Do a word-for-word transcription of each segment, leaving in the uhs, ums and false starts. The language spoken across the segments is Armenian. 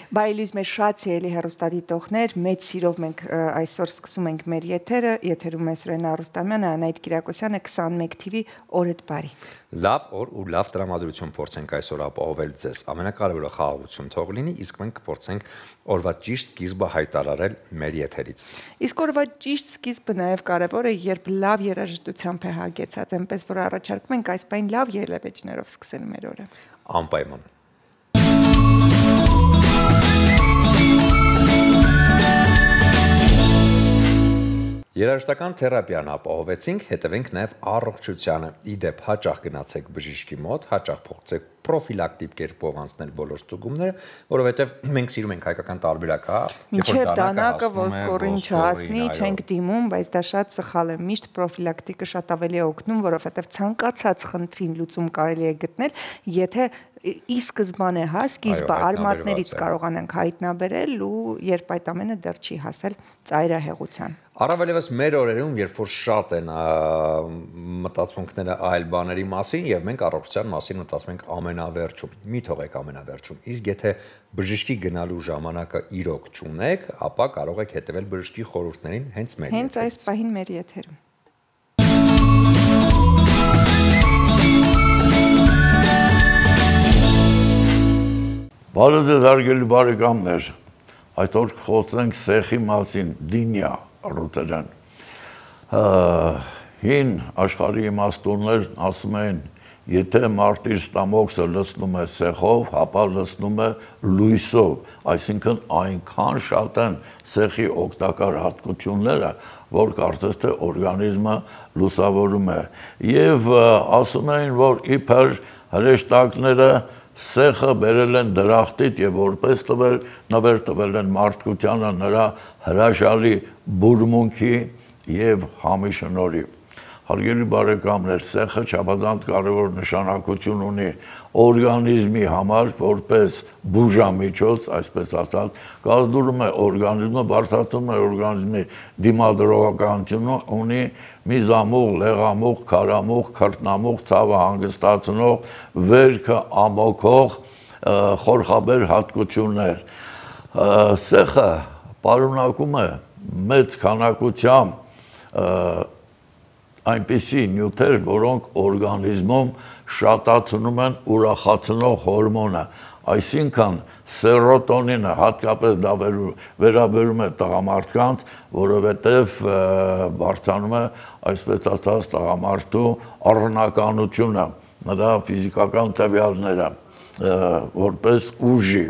Բայլույս մեր շատ սիրելի հեռուստադիտողներ, մեծ սիրով մենք այսօր սկսում ենք մեր եթերը, եթերում է Սուրենա Արուստամյանը, Անահիտ Կիրակոսյանը, քսանմեկ թիվի օրդ բարի։ Լավ օր ու լավ տրամադրություն փորձենք այսօր ապահովել ձեզ։ Ամենակարևորը խաղաղություն թող լինի, իսկ մենք կփորձենք օրվա ճիշտ սկիզբը հայտարարել մեր եթերից։ Իսկ օրվա ճիշտ սկիզբը նաև կարևոր է, երբ լավ երաժշտությամբ է հագեցած, այնպես որ առաջարկում ենք այս պայն լավ ելևէջներով սկսել մեր օրը։ Անպայման։ Երաժշտական թերապիան ապահովեցինք, հետևենք նաև առողջությանը։ Իդեպ հաճախ գնացեք բժիշկի մոտ, հաճախ փորձեք պրոֆիլակտիկ կերպով անցնել բոլոր ստուգումները, որովհետև մենք սիրում ենք հայկական տարբերակ, հա։ Մինչև դանակը ոսկորին չհասնի, չենք դիմում, բայց դա շատ սխալ է։ Միշտ պրոֆիլակտիկը շատ ավելի է օգնում, որովհետև ցանկացած խնդրին լուծում կարելի է գտնել, եթե ի սկզբանե հա սկիզբը արմատներից կարողանանք հայտնաբերել ու երբ այդ ամենը դեռ չի հասել ծայրահեղության։ Առավելևս մեր օրերում, երբ որ շատ են մտածմունքները այլ բաների մասին եւ մենք առողջության մասին մտածում ենք ամենավերջում, մի թողեք ամենավերջում, իսկ եթե բժշկի գնալու ժամանակը իրոք չունեք, ապա կարող եք հետևել բժշկի խորհուրդներին հենց մեր եթերից։ Հենց այս պահին մեր եթերում։ Բարև ձեզ հարգելի բարեկամներ, այսօր խոսենք սեխի մասին, դինյա ռուտերեն։ Հին աշխարհի իմաստուններն ասում են, եթե մարդ իր ստամոքսը լցնում է սեխով, ապա լցնում է լույսով, այսինքն այնքան շատ են սեխի օգտակար հատկությունները, որ կարծես թե օրգանիզմը լուսավորում է։ Եվ ասում են, որ իբր հրեշտակները սեխը բերել են դրախտից եւ որպես տվել նվեր տվել են մարդկությանը նրա հրաշալի բուրմունքի եւ համի շնորհիվ։ Հարգելի բարեկամներ, սեխը չափազանց կարևոր նշանակություն ունի օրգանիզմի համար, որպես բուժամիջոց, այսպես ասած, կազդուրում է օրգանիզմը, բարձրացնում է օրգանիզմի դիմադրողականությունը, ունի միզամուղ, լեղամուղ, քարամուղ, քրտնամուղ, ցավը հանգստացնող, վերքը ամոքող, խորխաբեր հատկություններ։ Սեխը պարունակում է մեծ քանակությամբ այնպիսի նյութեր, որոնք օրգանիզմում շատացնում են ուրախացնող հորմոնը, այսինքն սերոտոնինը, հատկապես դա վերաբերում է տղամարդկանց, որովհետև բարձրանում է, այսպես ասած, տղամարդու առնականությունը, նրա ֆիզիկական տվյալները, որպես ուժի։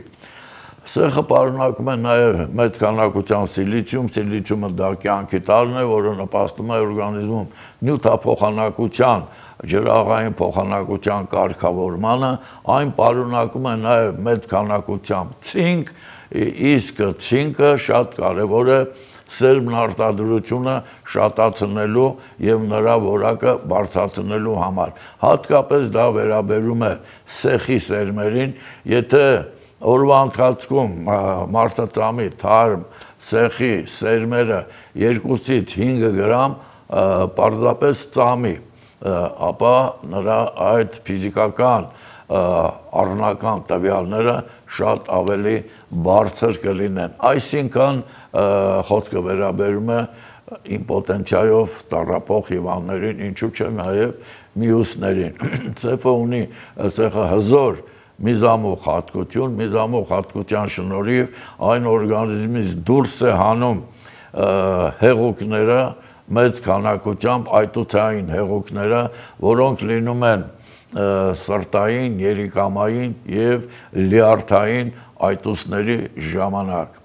Սեխը պարունակում է նաև մեծ քանակությամբ սիլիցիում, սիլիցիումը դա կյանքի տարրն է, որը նպաստում է օրգանիզմում նյութափոխանակության, ջրաղային փոխանակության կարգավորմանը, այն պարունակում է նաև մեծ քանակությամբ ցինկ, իսկ ցինկը շատ կարևոր է սերմն արտադրությունը շատացնելու եւ նրա որակը բարձրացնելու համար։ Հատկապես դա վերաբերում է սեխի սերմերին, եթե օրվա ընթացքում մարդը ծամի թարմ սեխի սերմերը երկուսից հինգ գրամ պարզապես ծամի, ապա նրա այդ ֆիզիկական առնական տվյալները շատ ավելի բարձր կլինեն։ Այսինքն խոսքը վերաբերում է իմպոտենցիայով տառապող հիվանդներին, ինչու՞ չէ նաև մյուսներին։ Սեխը ունի սեխը հզոր միզամուղ հատկություն, միզամուղ հատկության շնորհիվ այն օրգանիզմից դուրս է հանում հեղուկները, մեծ քանակությամբ այտուցային հեղուկները, որոնք լինում են սրտային, երիկամային եւ լյարդային այտուցների ժամանակ։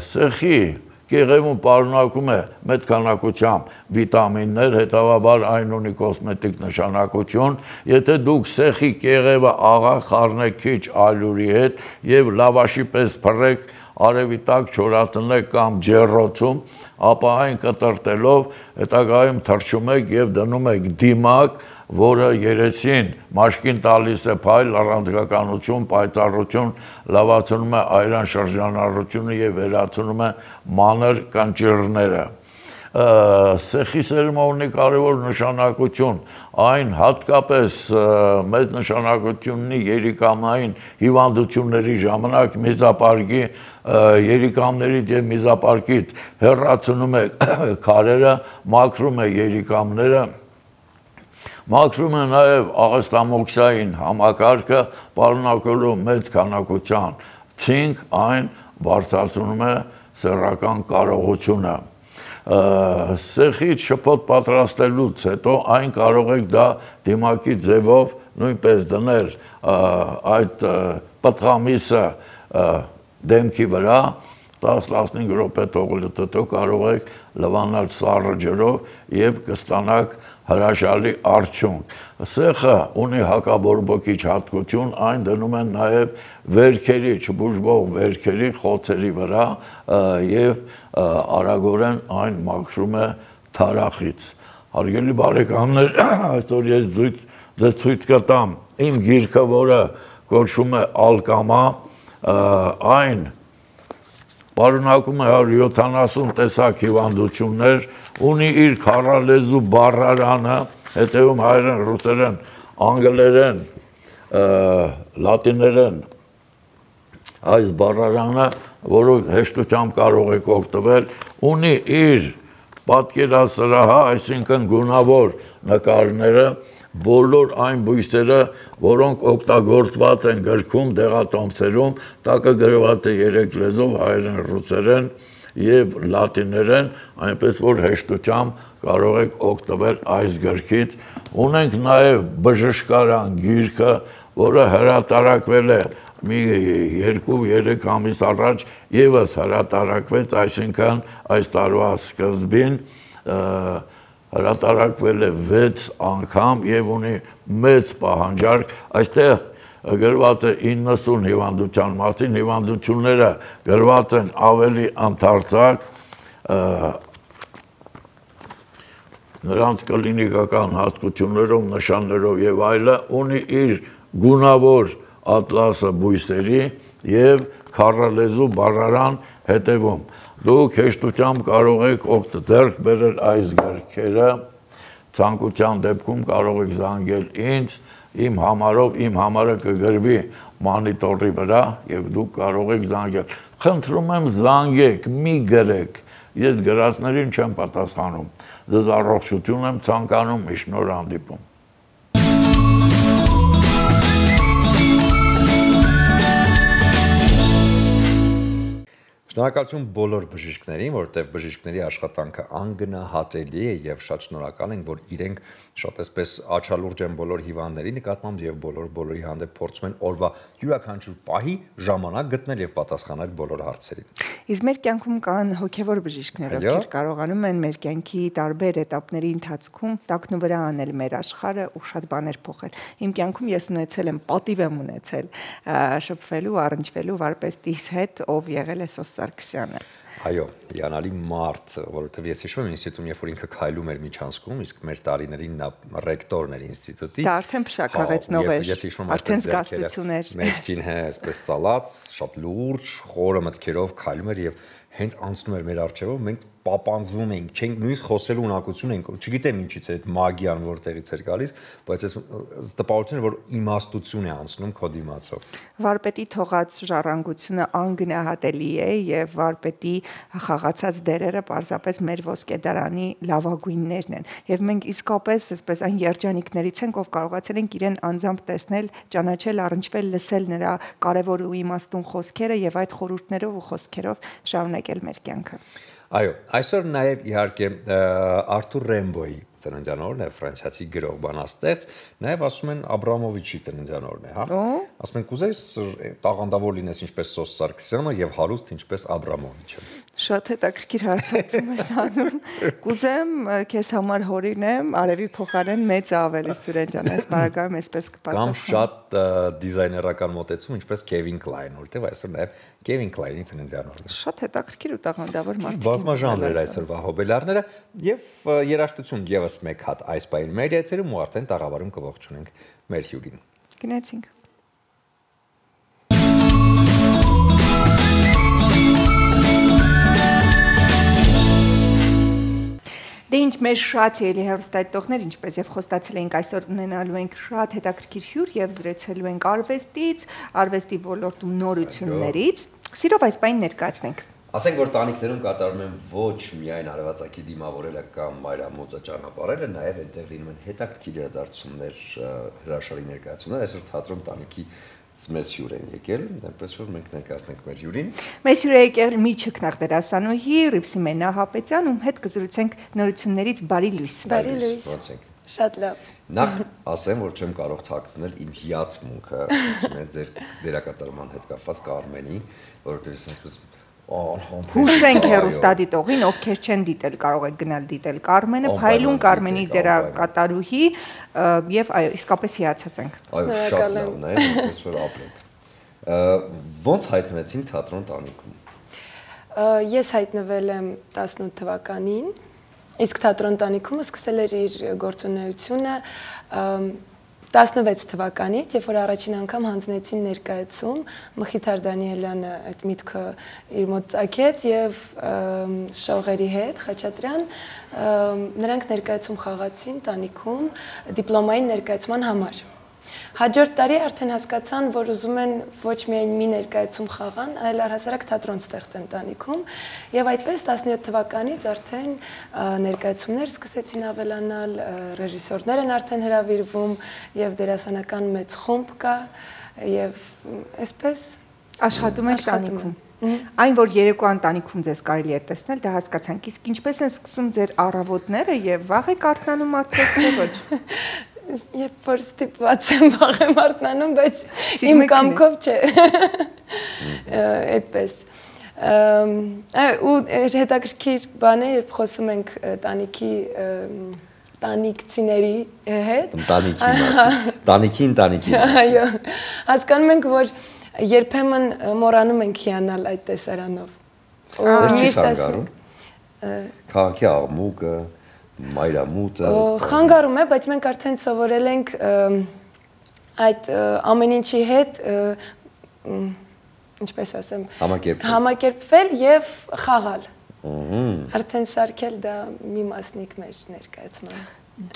Սեխի կեղևում պարունակում է մեծ քանակությամբ վիտամիններ, հետևաբար այն ունի կոսմետիկ նշանակություն։ Եթե դուք սեխի կեղևը աղա խառնեք քիչ ալյուրի հետ եւ լավաշի պես փռեք, արևի տակ չորացնեք կամ ջեռոցում, ապա այն կտրտելով հետագայում թռչում եք եւ դնում եք դիմակ, որը երեսին մաշկին տալիս է փայլ, առանցքականություն, պայծառություն, լավացնում է այրան շրջանառությունը եւ վերացնում է մանր կանճիռները։ սեխի սերումը ունի կարևոր նշանակություն, այն հատկապես մեծ նշանակություն ունի երիկամային հիվանդությունների ժամանակ միզապարկի երիկամներից եւ միզապարկից հեռացնում է քարերը, մաքրում է երիկամները, մաքրում է նաեւ աղեստամոքսային համակարգը, պարունակելու մեծ քանակության ցինկ, այն բարձրացնում է սեռական կարողությունը։ Սեխից շփոթ պատրաստելուց հետո այն կարող եք դա դիմակի ձևով նույնպես դնել այդ պտղամիսը դեմքի վրա, տասը-տասնհինգ րոպե թողնելուց հետո կարող եք լվանալ սառը ջրով եւ կստանաք հրաշալի արդյունք։ Սեխը ունի հակաբորբոքիչ հատկություն, այն դնում են նաեւ վերքերի, չբուժվող վերքերի խոցերի վրա եւ արագորեն այն մաքրում է թարախից։ Հարգելի բարեկամներ, այսօր ես ձեզ ցույց կտամ իմ գիրքը, որը կոչվում է Ալկամա, այն պարունակում է հարյուր յոթանասուն տեսակ հիվանդություններ, ունի իր քառալեզու բառարանը, հետևում հայերեն, ռուսերեն, անգլերեն, լատիներեն այս բառարանը, որով հեշտությամբ կարող եք օգտվել, ունի իր պատկերասրահը, այսինքն գունավոր նկարները, բոլոր այն բույսերը, որոնք օգտագործված են գրքում, դեղատոմսերում, տակը գրված է երեք լեզվով, հայերեն, ռուսերեն եւ լատիներեն, այնպես որ հեշտությամբ կարող եք օգտվել այս գրքից։ Ունենք նաեւ բժշկարան գիրքը, որը հրատարակվել է մի երկու-երեք ամիս առաջ, եւս հրատարակվեց, այսինքն այս տարվա սկզբին հրատարակվել է վեց անգամ եւ ունի մեծ պահանջարկ, այստեղ գրված է իննսուն հիվանդության մասին, հիվանդությունները գրված են ավելի ընդարձակ, նրանց կլինիկական հատկություններով, նշաններով եւ այլը, ունի իր գունավոր ատլասը բույսերի եւ քառալեզու բառարան հետևում։ Դուք հեշտությամբ կարող եք ձեռք բերել այս գրքերը, ցանկության դեպքում կարող եք զանգել ինձ, իմ համարով, իմ համարը կգրվի մանիտորի վրա եւ դուք կարող եք զանգել։ Խնդրում եմ զանգեք, մի գրեք, ես գրածներին չեմ պատասխանում, ձեզ առողջություն եմ ցանկանում, միշտ նոր հանդիպում։ Շնորհակալություն բոլոր բժիշկներին, որովհետև բժիշկների աշխատանքը անգնահատելի է եւ շատ շնորհակալ ենք, որ իրենք շատ այսպես աչալուրջ են բոլոր հիվանդների նկատմամբ եւ բոլոր բոլորի հանդեպ փորձում են օրվա յուրաքանչյուր պահի ժամանակ գտնել եւ պատասխանել բոլոր հարցերին։ Իսկ մեր կյանքում կան հոգեվոր բժիշկներ, ովքեր կարողանում են մեր կյանքի տարբեր էտապների ընթացքում տակնու վրա անել մեր աշխարհը ու շատ բաներ փոխել։ Իմ կյանքում ես ունեցել եմ, պատիվ եմ ունեցել շփվելու, առնչվելու վարպետիս հետ, ով եղել է Սոս Սարգսյանը։ Այո, հիանալի մարդ, որովհետև ես հիշում եմ ինստիտուտում, երբ որ ինքը քայլում էր միջանցքում, իսկ մեր տարիներին նա ռեկտորն էր ինստիտուտի։ Դա արդեն փշաքաղեցնող էր, արդեն զգաստություն էր։ Մեջքին հա, այսպես ծալած, շատ լուրջ, խորը մտքերով քայլում էր եւ հենց անցնում էր մեր առջևով, մենք պապանձվում էինք, չենք նույնիսկ խոսելու ունակություն ենք, չգիտեմ ինչից է այդ մագիան որտեղից էր գալիս, բայց այս տպավորությունը, որ իմաստություն է անցնում քո դիմացով։ Վարպետի թողած ժառանգությունը անգնահատելի է եւ վարպետի խաղացած դերերը պարզապես մեր ոսկեդարանի լավագույններն են։ Եվ մենք իսկապես այսպես այն երջանիկներից ենք, ով կարողացել ենք իրեն անձամբ տեսնել, ճանաչել, առնչվել, լսել նրա կարևոր ու իմաստուն խոսքերը եւ այդ խորհուրդներով ու խոսքերով շարունակել մեր կյանքը։ Այո, այսօր նաև իհարկե Արթուր Ռեմբոյի ծննդյան օրն է, ֆրանսիացի գրող բանաստեղծ, նաև ասում են Աբրամովիչի ծննդյան օրն է, հա։ Ասում են կուզես տաղանդավոր լինես ինչպես Սոս Սարգսյանը եւ հարուստ ինչպես Աբրամովիչը։ Շատ հետաքրքիր հարցում ես անում։ Կուզեմ քեզ համար հորինեմ, արևի փոխարեն մեծ ավելի Սուրեն ջան, այս բարակայում այսպես կպատասխանեմ։ Կամ շատ դիզայներական մոտեցում, ինչպես Քևին Կլայն, որտեղ այսօր նաև Քևին Կլայնի ծննդյան օրն է։ Շատ հետաքրքիր ու տաղանդավոր մարդիկ։ Բազմաժանր էր այսօրվա հոբելարները եւ երաժշտություն եւս մեկ հատ այս պահին մեր եթերում ու արդեն տաղավարում կողջունենք մեր հյուրին։ Գնացինք։ Դե ինչ մեր շատ ելի հեռուստադիտողներ, ինչպես եւ խոստացել էինք, այսօր ունենալու ենք շատ հետաքրքիր հյուր եւ զրուցելու ենք արվեստից, արվեստի ոլորտում նորություններից։ Սիրով այս բանին ներկայացնենք։ Ասենք որ տանիքներում կատարում են ոչ միայն արևածագի դիմավորելը կամ մայրամուտը ճանապարհելը, նաեւ այնտեղ լինում են հետաքրքիր իրադարձություններ, հրաշալի ներկայացումներ, այսօր թատրոն տանիքի մեծ հյուր են եկել, այնպես որ մենք ներկայացնենք մեր հյուրին։ Մեծ հյուր է եկել Միջուկնախ դերասանուհի Ռիփսիմենա Հապետյան, ում հետ կզրուցենք նորություններից բարի լույս։ Բարի լույս։ Շատ լավ։ Նախ ասեմ, որ չեմ կարող թաքցնել իմ հիացմունքը ձեր դերակատարման հետ կապված Կարմենի, որովհետև այսպես Հուշենք հեռուստադիտողին, ովքեր չեն դիտել, կարող եք գնալ դիտել Կարմենը, Փայլուն Կարմենի դերակատարուհի եւ այո, իսկապես հիացած ենք։ Այո, շատ լավն է, այնպես որ ապրենք։ Ոնց հայտնվեցին թատրոն տանիքում։ Ես հայտնվել եմ տասնութ թվականին, իսկ թատրոն տանիքումը սկսել էր իր գործունեությունը տասնվեց թվականից, երբ որ առաջին անգամ հանձնեցին ներկայացում, Մխիթար Դանիելյանը այդ միտքը իր մոտ ծագեց եւ շողերի հետ Խաչատրյան նրանք ներկայացում խաղացին տանիքում դիպլոմային ներկայացման համար։ Հաջորդ տարի արդեն հասկացան, որ ուզում են ոչ միայն մի ներկայացում խաղան, այլ առհասարակ թատրոն ստեղծեն տանիքում, եւ այդպես տասնյոթ թվականից արդեն ներկայացումներ սկսեցին ավելանալ, ռեժիսորներ են արդեն հրավիրվում եւ դերասանական մեծ խումբ կա եւ այսպես աշխատում են տանիքում։ Այն որ երեկոյան տանիքում ձեզ կարելի է տեսնել, դա հասկացանք, իսկ ինչպես են սկսում ձեր առավոտները եւ վաղ եք արթնանում արդյոք թե ոչ։ Երբ որ ստիպված եմ վաղ եմ արթնանում, բայց իմ կամքով չէ։ Այդպես։ Ու հետաքրքիր բան է, երբ խոսում ենք տանիքի տանիքցիների հետ։ Տանիքի մասին։ Տանիքի ընտանիքի մասին։ Այո։ Հասկանում ենք, որ երբեմն մոռանում ենք հիանալ այդ տեսարանով։ Միշտ ասում։ Քաղաքի աղմուկը մայրամուտը խանգարում է, բայց մենք արդեն սովորել ենք այդ ամեն ինչի հետ ինչպես ասեմ համակերպվել եւ խաղալ։ Արդեն սարքել դա մի մասնիկ մեր ներկայացման։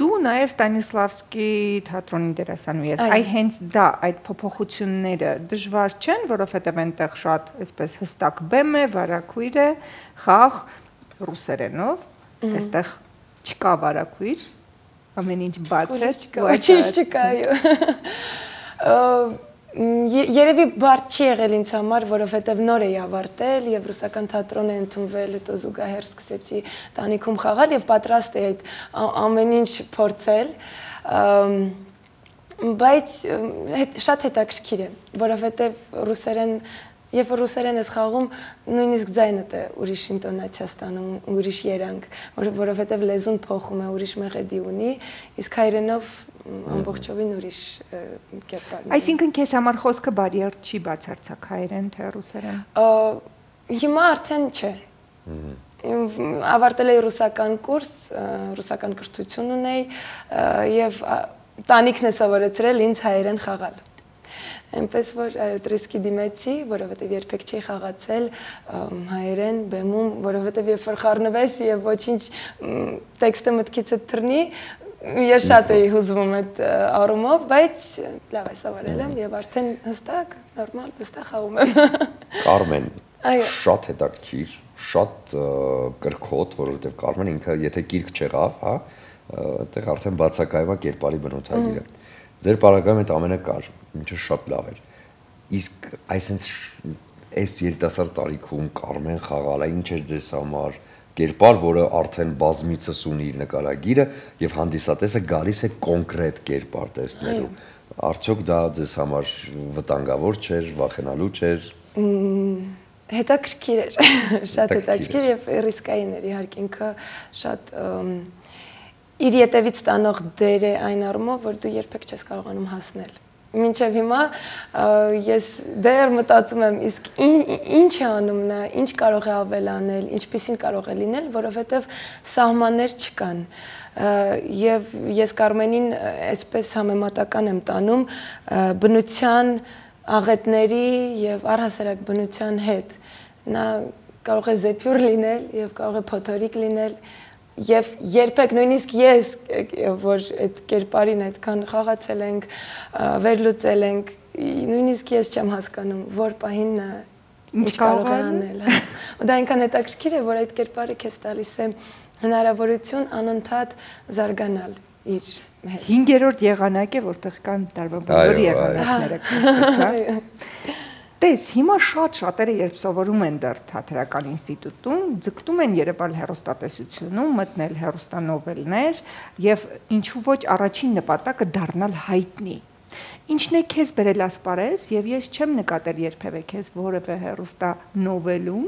Դու նաեւ Ստանիսլավսկի թատրոնի դերասանուհի ես։ Այ հենց դա այդ փոփոխությունները դժվար չեն, որովհետեւ այնտեղ շատ այսպես հստակ բեմ է, վարակույր է, խաղ ռուսերենով, այստեղ չկա վարակույր, ամեն ինչ բաց է, ոչինչ չկա, այո։ Երևի բարդ չի եղել ինձ համար, որովհետև նոր էի ավարտել եւ ռուսական թատրոն է ընդունվել, հետո զուգահեռ սկսեցի տանիքում խաղալ եւ պատրաստ էի այդ ամեն ինչ փորձել, բայց շատ հետաքրքիր է, որովհետև ռուսերեն Երբ որ ռուսերեն ես խաղում, նույնիսկ ձայնդ է ուրիշ ինտոնացիա ստանում, ուրիշ երանգ, որովհետև լեզուն փոխում է, ուրիշ մեղեդի ունի, իսկ հայերենով ամբողջովին ուրիշ կերպարն է։ Այսինքն քեզ համար խոսքը բարիեր չի բացարձակ հայերեն թե ռուսերեն։ Հիմա արդեն չէ։ Ավարտել էի ռուսական կուրս, ռուսական կրթություն ունեի եւ տանիքն է սովորեցրել ինձ հայերեն խաղալ։ Այնպես որ տրիսկի դիմեցի, որովհետև երբեք չի խաղացել հայերեն բեմում, որովհետև երբ որ խառնվես եւ ոչինչ տեքստը մտքիցդ թռնի, ես շատ էի հուզվում այդ առումով, բայց լավ է սովորել եմ եւ արդեն հստակ, նորմալ, վստահ խաղում եմ։ Կարմեն, շատ հետաքրքիր, շատ կրքոտ, որովհետև Կարմեն ինքը եթե գիրք չեղավ, հա, այդտեղ արդեն բացակայում է կերպարի բնութագիրը։ Ձեր պարագայում այդ ամենը կար, ինչը շատ լավ էր։ Իսկ այսինքն այս երիտասարդ տարիքում Կարմեն խաղալը ինչ էր ձեզ համար կերպար, որը արդեն բազմիցս ունի իր նկարագիրը եւ հանդիսատեսը գալիս է կոնկրետ կերպար տեսնելու։ Արդյոք դա ձեզ համար վտանգավոր չէր, վախենալու չէր։ Հետաքրքիր էր, շատ հետաքրքիր եւ ռիսկային էր իհարկե ինքը շատ իր ետևից տանող դեր է այն առումով, որ դու երբեք չես կարողանում հասնել։ Մինչև հիմա ես դեռ մտածում եմ, իսկ ինչ է անում նա, ինչ կարող է ավելանել, ինչպիսին կարող է լինել, որովհետև սահմաններ չկան։ Եվ ես Կարմենին այսպես համեմատական եմ տանում բնության աղետների եւ առհասարակ բնության հետ։ Նա կարող է զեփյուր լինել եւ կարող է փոթորիկ լինել Եվ երբեք նույնիսկ ես, որ այդ կերպարին այդքան խաղացել ենք, վերլուծել ենք, նույնիսկ ես չեմ հասկանում, որ պահին ինչ կարող է անել։ Ու դա այնքան հետաքրքիր է, որ այդ կերպարը քեզ տալիս է հնարավորություն անընդհատ զարգանալ իր հետ։ Հինգերորդ եղանակ է, որտեղ կան տարվա բոլոր եղանակները։ Տես, հիմա շատ շատերը երբ սովորում են դեռ թատերական ինստիտուտում, ձգտում են երևալ հեռուստատեսությունում, մտնել հեռուստանովելներ եւ ինչու ոչ առաջին նպատակը դառնալ հայտնի։ Ինչն է քեզ բերել ասպարեզ եւ ես չեմ նկատել երբևէ քեզ որևէ հեռուստանովելում,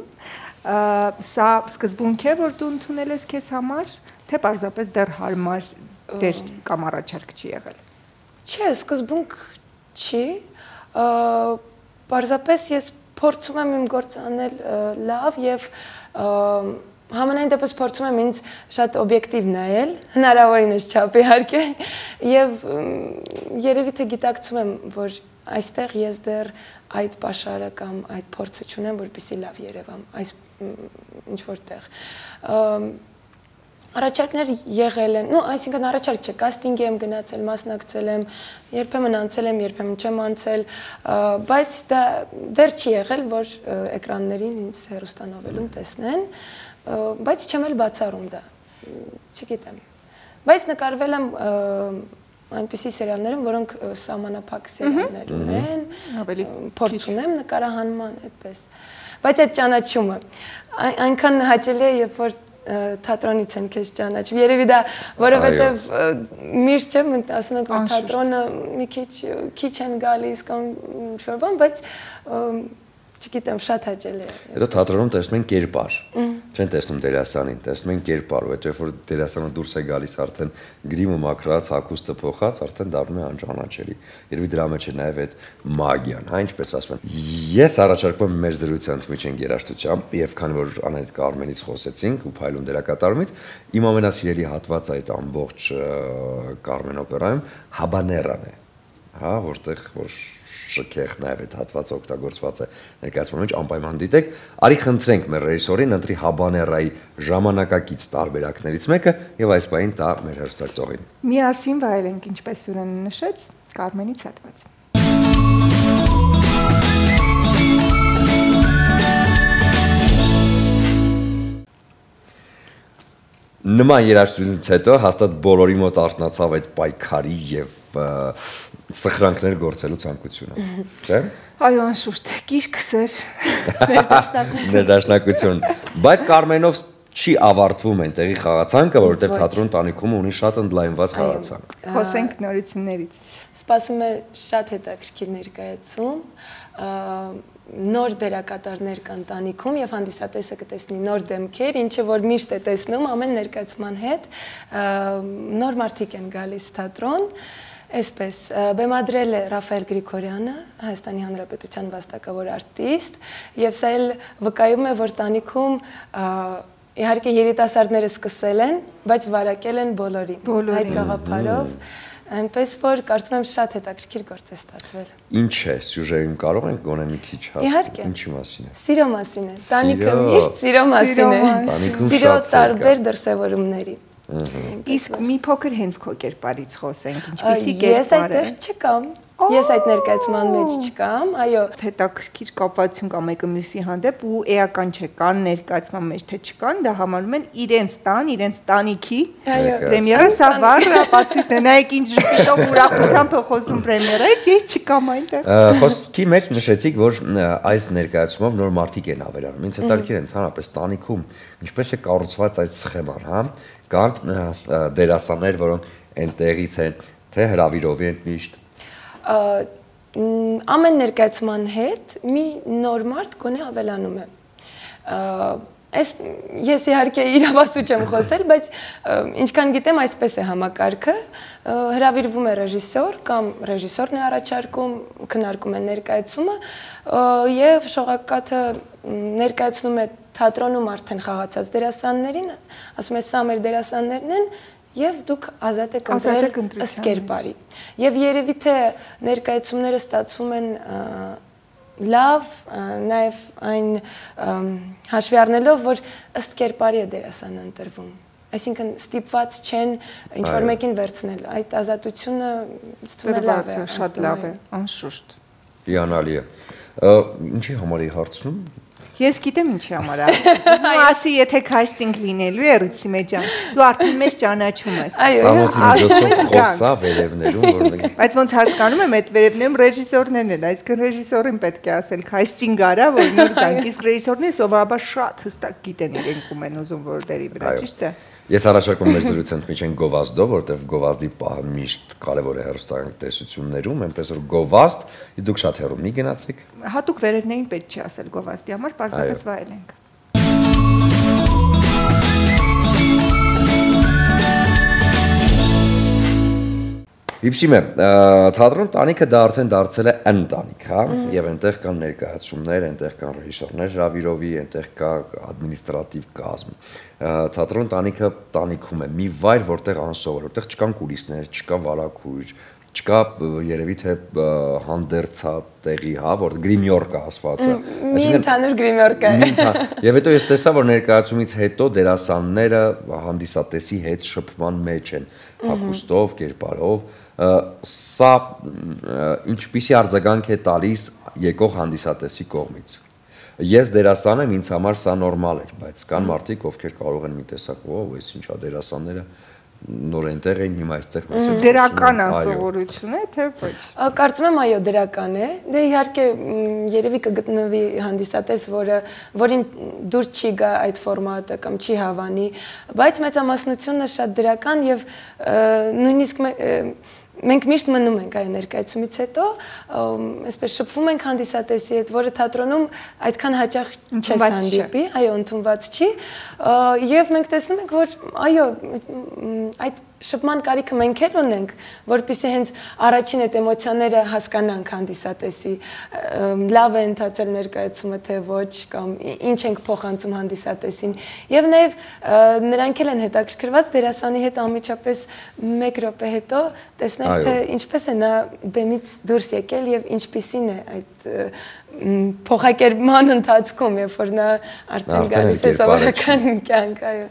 սա սկզբունք է, որ դու ընդունել ես քեզ համար, թե պարզապես դեռ հարմար դեր կամ առաջարկ չի եղել։ Չէ, սկզբունք չի, պարզապես ես փորձում եմ իմ գործը անել լավ եւ համենայն դեպս փորձում եմ ինձ շատ օբյեկտիվ նայել, հնարավորինս չափ իհարկե, եւ երևի թե գիտակցում եմ, որ այստեղ ես դեռ այդ պաշարը կամ այդ փորձը չունեմ, որպեսզի լավ երևամ այս ինչ որտեղ։ Առաջարկներ եղել են, ну, այսինքն առաջարկ չէ, կաստինգի եմ գնացել, մասնակցել եմ, երբեմն անցել եմ, երբեմն չեմ անցել, բայց դա դեռ չի եղել, որ էկրաններին ինձ հեռուստանովելում տեսնեն, բայց չեմ էլ բացառում դա, չգիտեմ։ Բայց նկարվել եմ այնպիսի սերիալներում, որոնք սահմանափակ սերիալներ ունեն, փորձում եմ նկարահանման այդպես։ Բայց այդ ճանաչումը այնքան հաճելի է, երբ որ թատրոնից են քեզ ճանաչում։ Երևի դա, որովհետև միշտ չեմ ասում ենք, որ թատրոնը մի քիչ քիչ են գալիս կամ ինչ-որ բան, բայց չգիտեմ, շատ հաճելի է։ Հետո թատրոնում տեսնում են կերպար, չեն տեսնում դերասանին, տեսնում են կերպար, որովհետև որ դերասանը դուրս է գալիս արդեն գրիմը մաքրած, հագուստը փոխած, արդեն դառնում է անճանաչելի։ Երևի դրա մեջ է նաև այդ մագիան, հա, ինչպես ասում են։ Ես առաջարկում եմ մեր զրույցը ընդմիջենք երաժշտությամբ, եւ քանի որ Անահիտ Կարմենից խոսեցինք ու Փայլուն դերակատարումից, իմ ամենասիրելի հատվածը այդ ամբողջ Կարմեն օպերայում հաբաներան է, հա, որտեղ որ շքեղ նաև այդ հատվածը օգտագործված է ներկայացման մեջ անպայման դիտեք, արի խնդրենք մեր ռեժիսորին ընտրի հաբաներայի ժամանակակից տարբերակներից մեկը եւ այս բանին տա մեր հերոստատողին։ Միասին վայելենք, ինչպես Սուրենը նշեց, Կարմենից հատված։ Նման երաժշտությունից հետո հաստատ բոլորի մոտ արթնացավ այդ պայքարի եւ սխրանքներ գործելու ցանկությունը, չէ՞։ Այո, անշուշտ, գիրքս էր ներդաշնակություն, բայց Կարմենով չի ավարտվում այնտեղի խաղացանկը, որովհետեւ թատրոն տանիքում ունի շատ ընդլայնված խաղացանք։ Խոսենք նորություններից։ Սպասում է շատ հետաքրքիր ներկայացում, նոր դերակատարներ կան տանիքում եւ հանդիսատեսը կտեսնի նոր դեմքեր, ինչը որ միշտ է տեսնում ամեն ներկայացման հետ, նոր մարդիկ են գալիս թատրոն, այսպես բեմադրել է Ռաֆայել Գրիգորյանը, Հայաստանի Հանրապետության վաստակավոր արտիստ, եւ սա էլ վկայում է, որ տանիքում իհարկե երիտասարդները սկսել են, բայց վարակել են բոլորին այդ գաղափարով։ Այնպես որ կարծում եմ շատ հետաքրքիր գործ է ստացվել։ Ինչ է, սյուժեին կարող ենք գոնե մի քիչ հասկանալ, ինչի մասին է։ Սիրո մասին է։ Տանիքը միշտ սիրո մասին է։ Սիրո տարբեր դրսևորումների։ Իսկ մի փոքր հենց քո կերպարից խոսենք, ինչպեսի կերպար է։ Ես այդտեղ չկամ։ Ես այդ ներկայացման մեջ չկամ, այո։ Հետաքրքիր կապացություն կա մեկը մյուսի հանդեպ ու էական չէ, կան ներկայացման մեջ թե չկան, դա համարում են իրենց տան, իրենց տանիքի պրեմիերա, սա վառ ապացույցն է, նայեք ինչ ժպիտով ուրախությամբ խոսում պրեմիերայից, ես չկամ այնտեղ։ Խոսքի մեջ նշեցիք, որ այս ներկայացումով նոր մարդիկ են ավելանում։ Ինձ հետաքրքիր է ընդհանրապես տանիքում ինչպես է կառուցված այդ սխեման, հա։ Կան դերասաններ, որոնք այնտեղից են, թե հրավիրովի են միշտ։ Ամեն ներկայացման հետ մի նոր մարդ գոնե ավելանում է։ Այս ես իհարկե իրավասու չեմ խոսել, բայց ինչքան գիտեմ, այսպես է համակարգը, հրավիրվում է ռեժիսոր կամ ռեժիսորն է առաջարկում, քննարկում է ներկայացումը եւ շողակաթը ներկայացնում է թատրոնում արդեն խաղացած դերասաններին, ասում է սա մեր դերասաններն են եւ դուք ազատ եք ընտրել ըստ կերպարի։ Եվ երևի թե ներկայացումները ստացվում են լավ, նաև այն հաշվի առնելով, որ ըստ կերպարի է դերասանը ընտրվում։ այսինքն ստիպված չեն ինչ-որ մեկին վերցնել։ Այդ ազատությունը ցտում է լավ է, շատ լավ է, անշուշտ։ Հիանալի է։ Ինչի համար էի հարցնում։ Ես գիտեմ ինչի համար է։ Ուզում ասի, եթե casting լինելու է Ռուսի մեջ, դու արդեն մեզ ճանաչում ես։ Ծանոթի միջոցով խոսա վերևներում, որովհետեւ Բայց ոնց հասկանում եմ, այդ վերևներում ռեժիսորներն են, այսինքն ռեժիսորին պետք է ասել casting արա, որ նոր գանք, իսկ ռեժիսորները սովորաբար շատ հստակ գիտեն իրենք ում են ուզում որ դերի վրա, ճիշտ է։ Ես առաջարկում մեր զրույցը ընդմիջեն գովազդով, որտեղ գովազդի պահը միշտ կարևոր է հեռուստական տեսություններում, այնպես որ գովազդ, դուք շատ հեռու մի գնացիք։ Հատուկ վերևներին պետք չի ասել գովազդի համար, պարզապես վայել ենք։ Իպսիմե, թատրոն տանիքը դա արդեն դարձել է ընտանիք, հա, եւ այնտեղ կան ներկայացումներ, այնտեղ կան ռեժիսորներ հրավիրովի, այնտեղ կա ադմինիստրատիվ կազմ։ Թատրոն տանիքը տանիքում է, մի վայր, որտեղ անսովոր, որտեղ չկան կուլիսներ, չկա վարակույր, չկա երևի թե հանդերձատեղի, հա, որ գրիմյորկա ասվածը։ Մի ընդհանուր գրիմյորկա է։ Եվ հետո ես տեսա, որ ներկայացումից հետո դերասանները հանդիսատեսի հետ շփման մեջ են, հագուստով, կերպարով, սա ինչպիսի արձագանք է տալիս եկող հանդիսատեսի կողմից։ Ես դերասան եմ, ինձ համար սա նորմալ էր, բայց կան մարդիկ, ովքեր կարող են մի տեսակ, ով, այս ինչա դերասանները նոր այնտեղ էին, հիմա այստեղ մեզ հետ դրական ասովորություն է, թե ոչ։ Կարծում եմ այո, դրական է։ Դե իհարկե երևի կգտնվի հանդիսատես, որը որին դուր չի գա այդ ֆորմատը կամ չի հավանի, բայց մեծամասնությունը շատ դրական եւ նույնիսկ մենք միշտ մնում ենք այ ներկայացումից հետո, այսպես շփվում ենք հանդիսատեսի հետ, որը թատրոնում այդքան հաճախ չես հանդիպի, այո, ընդունված չի, եւ մենք տեսնում ենք, որ այո, այդ շփման կարիքը մենք էլ ունենք, որպեսզի հենց առաջին այդ էմոցիաները հասկանանք հանդիսատեսի, լավ է ընթացել ներկայացումը թե ոչ, կամ ինչ ենք փոխանցում հանդիսատեսին, եւ նաեւ նրանք էլ են հետաքրքրված դերասանի հետ անմիջապես մեկ րոպե հետո տեսնել, թե ինչպես է նա բեմից դուրս եկել եւ ինչպիսին է այդ փոխակերպման ընթացքում, երբ որ նա արդեն գալիս է սովորական կյանք, այո։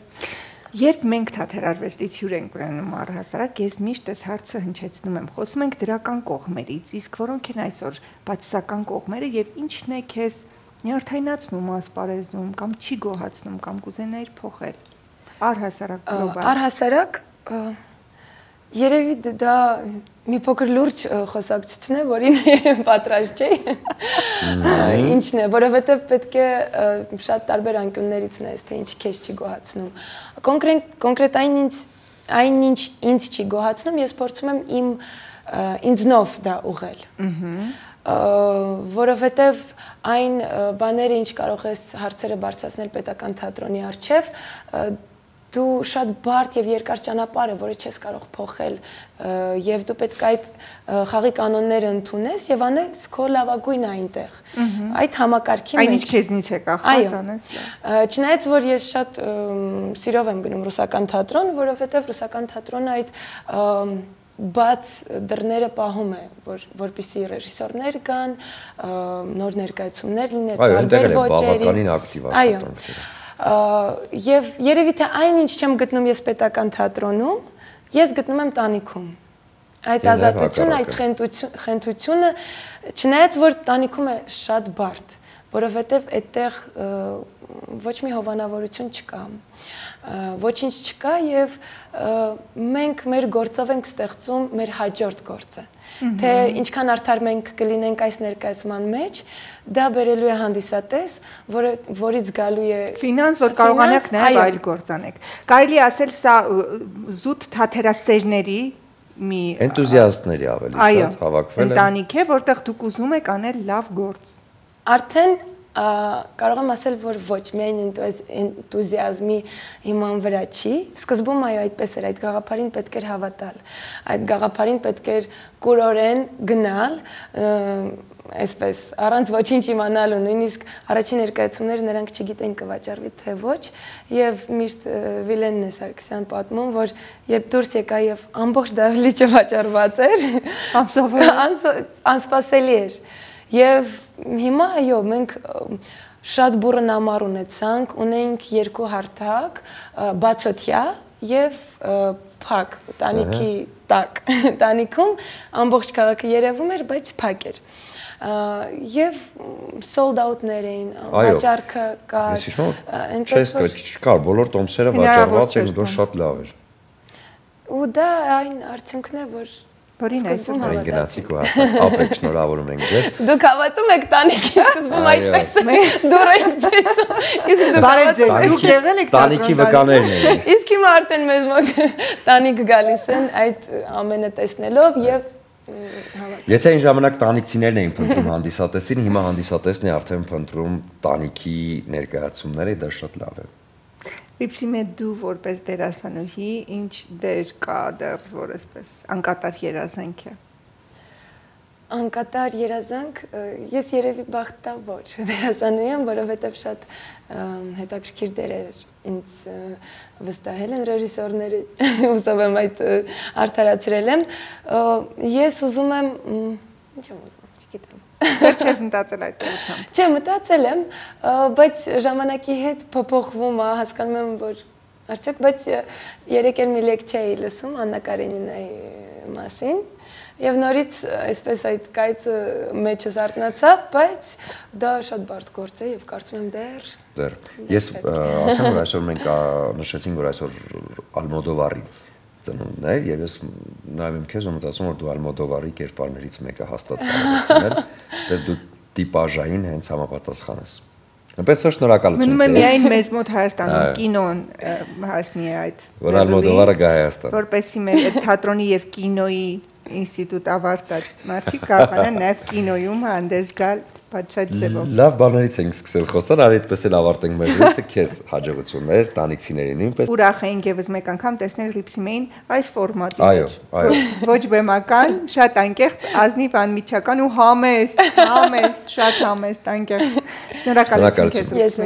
Երբ մենք թատերարվեստի թյուր ենք ունենում առհասարակ, ես միշտ այս հարցը հնչեցնում եմ, խոսում ենք դրական կողմերից, իսկ որոնք են այսօր բացասական կողմերը եւ ինչն է քեզ նյարդայնացնում ասպարեզում կամ չի գոհացնում կամ կուզենայիր փոխել։ Առհասարակ գլոբալ։ Առհասարակ երևի դա մի փոքր լուրջ խոսակցություն է, որին պատրաստ չէի։ Ինչն է, որովհետև պետք է շատ տարբեր անկյուններից նայես, թե ինչ քեզ չի գոհացնում։ Կոնկրետ այնինչ ինձ չի գոհացնում, ես փորձում եմ իմ ինձնով դա ուղղել։ Որովհետև այն բաները, ինչ կարող ես հարցերը բարձրացնել պետական թատրոնի առջև, դու շատ բարդ եւ երկար ճանապարհ է, որը չես կարող փոխել, եւ դու պետք է այդ խաղի կանոնները ընդունես եւ անես քո լավագույնը այնտեղ։ Այդ համակարգի մեջ։ Այն ինչ քեզնից է կախված անես։ Չնայած որ ես շատ սիրով եմ գնում ռուսական թատրոն, որովհետեւ ռուսական թատրոնը այդ բաց դռները պահում է, որ որպեսզի ռեժիսորներ կան, նոր ներկայացումներ լինեն, տարբեր ոճերի։ Այո։ Եվ երևի թե այն ինչ չեմ գտնում ես պետական թատրոնում, ես գտնում եմ տանիքում։ Այդ ազատությունը, այդ խենթությունը, չնայած որ տանիքում է շատ բարդ, որովհետև այդտեղ ոչ մի հովանավորություն չկա, ոչինչ չկա եւ մենք մեր գործով ենք ստեղծում մեր հաջորդ գործը։ Թե ինչքան արդար մենք կլինենք այս ներկայացման մեջ, դա բերելու է հանդիսատես, որից գալու է ֆինանս, որ կարողանաք նաև այլ գործ անեք։ Կարելի է ասել սա զուտ թատերասերների մի էնտուզիաստների ավելի շատ հավաքվել են։ Ընտանիք է, որտեղ դուք ուզում եք անել լավ գործ։ Արդեն կարող եմ ասել, որ ոչ միայն էնտուզիազմի հիման վրա չի, սկզբում այո այդպես էր, այդ գաղափարին պետք էր հավատալ, այդ գաղափարին պետք էր կուրորեն գնալ, այսպես, առանց ոչինչ իմանալու, նույնիսկ առաջին ներկայացումները նրանք չգիտեն կվաճառվի թե ոչ, եւ միշտ Վիլենն է Սարգսյան պատմում, որ երբ դուրս եկա եւ ամբողջ դահլիճը վաճառված էր, անսպասելի էր։ Եվ հիմա այո, մենք շատ բուրըն ամառ ունեցանք, ունենք երկու հարթակ, բացօթյա եւ փակ, տանիքի տակ, տանիքում ամբողջ քաղաքը երևում էր, բայց փակ էր։ Եվ sold out-ներ էին, վաճառքը կար, այնպես որ չկար, բոլոր տոմսերը վաճառված էին, որ շատ լավ էր։ Ու դա այն արդյունքն է, որ Որին սկզբում հավատացի։ Գնացիք ու ապեք շնորհավորում ենք ձեզ։ Դուք հավատում եք տանիքի սկզբում այդպես դուր եք ձեզում։ Իսկ դուք հավատում եք, դուք եղել եք տանիքի վկաներն էին։ Իսկ հիմա արդեն մեզ մոտ տանիք գալիս են այդ ամենը տեսնելով եւ Եթե այն ժամանակ տանիքցիներն էին փնտրում հանդիսատեսին, հիմա հանդիսատեսն է արդեն փնտրում տանիքի ներկայացումները, դա շատ լավ է։ Լիպսիմե դու որպես դերասանուհի ինչ դեր կա դեռ որ այսպես անկատար երազանք է։ Անկատար երազանք, ես երևի բախտավոր դերասանուհի եմ, որովհետև շատ հետաքրքիր դերեր ինձ վստահել են ռեժիսորները, հուսով եմ այդ արդարացրել եմ։ Ես ուզում եմ, ինչ եմ ուզում, չգիտեմ։ Դեռ չես մտածել այդ ուղղությամբ։ Չէ, մտածել եմ, բայց ժամանակի հետ փոփոխվում է, հասկանում եմ, որ արդյոք, բայց երեք էլ մի լեկցիա էի լսում Աննա Կարենինայի մասին, եւ նորից այսպես այդ կայծը մեջս արտնացավ, բայց դա շատ բարդ գործ է եւ կարծում եմ դեռ դեռ ես ասեմ որ այսօր մենք նշեցինք որ այսօր Ալմոդովարի ծնունդն է եւ ես նայում եմ քեզ ու մտածում որ դու Ալմոդովարի կերպարներից մեկը հաստատ կարող ես լինել, դեռ դու տիպաժային հենց համապատասխան ես։ Այնպես որ շնորհակալություն։ Մնում է միայն մեզ մոտ Հայաստանում կինոն հասնի այդ որ Ալմոդովարը գա Հայաստան։ Որպեսզի մեր այդ թատրոնի եւ կինոյի ինստիտուտ ավարտած մարդիկ կարողանան նաեւ կինոյում հանդես գալ պատշաճ ձևով։ Լավ բաներից ենք սկսել խոսալ, արի այդպես էլ ավարտենք մեր զրույցը, քեզ հաջողություններ, տանիքցիների նույնպես։ Ուրախ էինք եւս մեկ անգամ տեսնել Լիպսիմեին այս ֆորմատի Այո, այո։ Ոչ բեմական, շատ անկեղծ, ազնիվ անմիջական ու համեստ, համեստ, շատ համեստ, անկեղծ։ Շնորհակալություն քեզ։ Ես